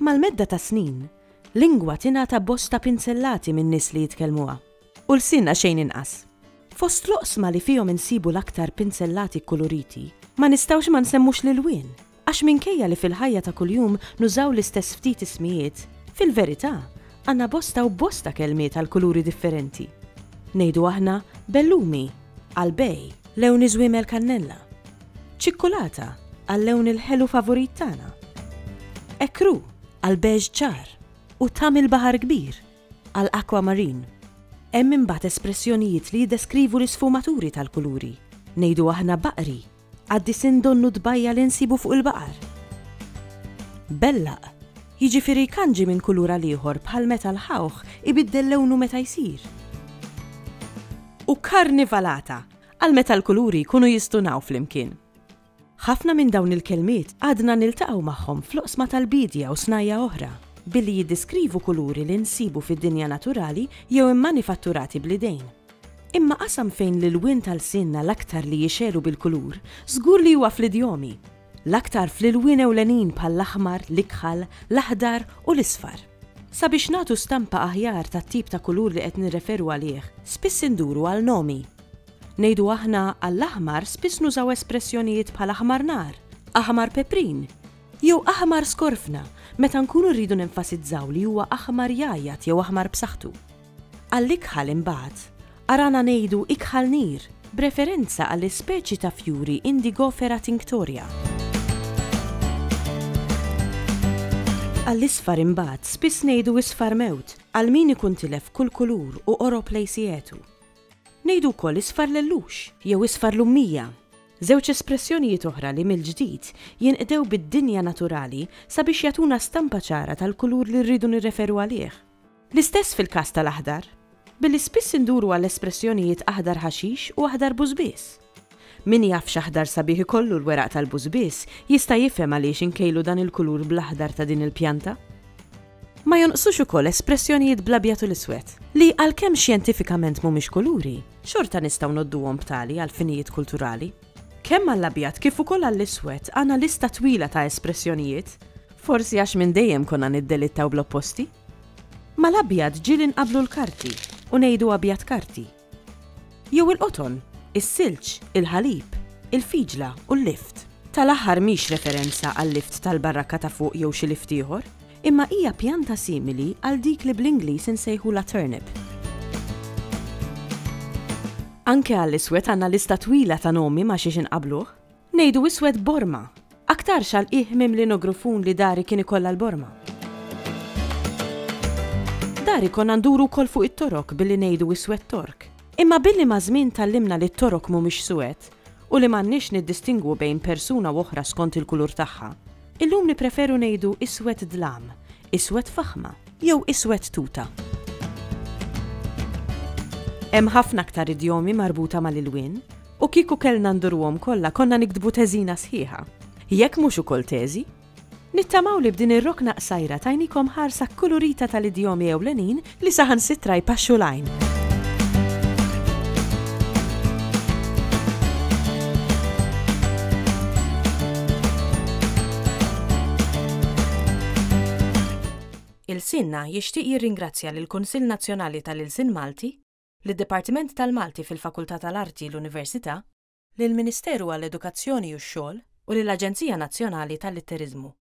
Mal-medda tas-snin, lingwa tingħata bosta pinzellati min-nies li jitkellmuha. U lsienna xejn inqas. Fost l-oqsma li fihom insibu l-aktar pinzellati kkuluriti, ma nistgħux ma nsemmux l-ilwien, għax minkejja li fil-ħajja ta' kuljum nużaw l-istess ftit ismijiet, fil-verità għandna bosta u bosta kelmiet għal kuluri differenti. Ngħidu aħna bellumi għal bej, lewn iż-żwiemel kannella. Ċikkulata għal lewn il-ħelu favorit tagħna. Ekru għal beige ċar u tam il-baħar kbir għal aquamarine. Hemm imbagħad espressjonijiet li jiddeskrivu l-isfumaturi tal-kuluri. Ngħidu aħna baqri għad-disinn donnu tbajja' li nsibu fuq il-baqar. Bellaq, jiġifieri jkanġi minn kulur għal ieħor bħal meta l-ħawħ ibiddel lewnu meta jsir. U karnivalata għal meta l-kuluri jkunu jistunaw flimkien. Ħafna minn dawn il-kelmiet għadna niltaqgħu magħhom fl-oqsma tal-biedja u snajja' oħra, billi jiddiskrivu kuluri li nsibu fid-dinja naturali jew immanifatturati bl-idejn. Imma qasam fejn l-ilwien ta' lsienna l-aktar li jixegħlu bil-kulur żgur li huwa fl-idjomi, l-aktar fl-ilwien ewlenin bħall-aħmar, l-ikħal, l-aħdar u l-isfar. Sabiex nagħtu stampa aħjar tat-tip ta' kulur li qed nirreferu għalih, spiss induru għal nomi. Ngħidu aħna għall-aħmar spiss nużaw espressjonijiet bħal aħmar nar, aħmar peprin, jew aħmar skorfna meta nkunu rridu nenfasizzaw li huwa aħmar jgħajjat jew aħmar b'saħħtu. Għall-ikħal imbagħad, arana ngħidu ikħal nir b'referenza għall-ispeċi ta' fjuri Indigofera tinctoria. Għall-isfar imbagħad spiss ngħidu isfar mewt għal min ikun tilef kull kulur u qorob lejn sietu. Ngħidu wkoll isfar lellux jew isfar lummija, żewġ espressjonijiet oħra li mill-ġdid jinqdew bid-dinja naturali sabiex jagħtuna stampa ċara tal-kulur li rridu nirreferu għalih. L-istess fil-każ tal-aħdar, billi spiss induru għall-espressjonijiet aħdar ħaxix u aħdar bużbież. Min jaf x'aħdar sabiħ ikollu l-weraq tal-bużbież jista' jifhem għaliex inkejlu dan il-kulur bl-aħdar ta' din il-pjanta. Ma jonqsux ukoll espressjonijiet bl-abjad u l-iswed, li għalkemm xjentifikament mhumiex kuluri, xorta nistgħu ngħodduhom b'tali għal finijiet kulturali. Kemm għall-abjad kif ukoll għall-iswed għandna lista twila ta' espressjonijiet, forsi għax minn dejjem konna niddelittaw bl-opposti. Mal-abjad ġieli nqabblu l-karti u ngħidu abjad karti. Jew il-qoton, is-silġ, il-ħalib, il-fiġla u l-lift. Tal-aħħar mhix referenza għal-lift tal-barrakka ta' fuq jew xi lift ieħor, imma hija pjanta simili għal dik li bl-Ingliż insejħulha turnip. Anke għall-iswed għandna lista twila ta' nomi ma' xiex inqabbluh. Ngħidu iswed borma, aktarx għal qiegħ mimli nogrufun li dari kien ikollha l-borma. Dari konna nduru wkoll fuq it-torok billi ngħidu iswed tork. Imma billi maż-żmien tgħallimna li t-torok mhumiex suwed u li m'għandniex niddistingwu bejn persuna u oħra skont il-kulur tagħha, illum nippreferu ngħidu iswed dlam, iswed faħma jew iswed tuta. Hemm ħafna aktar idjomi marbuta mal-ilwien. U kieku kellna nduruhom kollha konna niktbu teżina sħiħa. Jekk mhux ukoll teżi. Nittamaw li b'din ir-rokna qsajra tajnikom ħarsa kkulurita tal-idjomi ewlenin li saħansitra jpaxxu l-għajn. Ilsienna jixtieq jirringrazzja lill-Kunsill Nazzjonali tal-Ilsien Malti, lid-Dipartiment tal-Malti fil-Fakultà tal-Arti, l-Università, lill-Ministeru għall-Edukazzjoni u x-Xogħol u lill-Aġenzija Nazzjonali tal-Litteriżmu.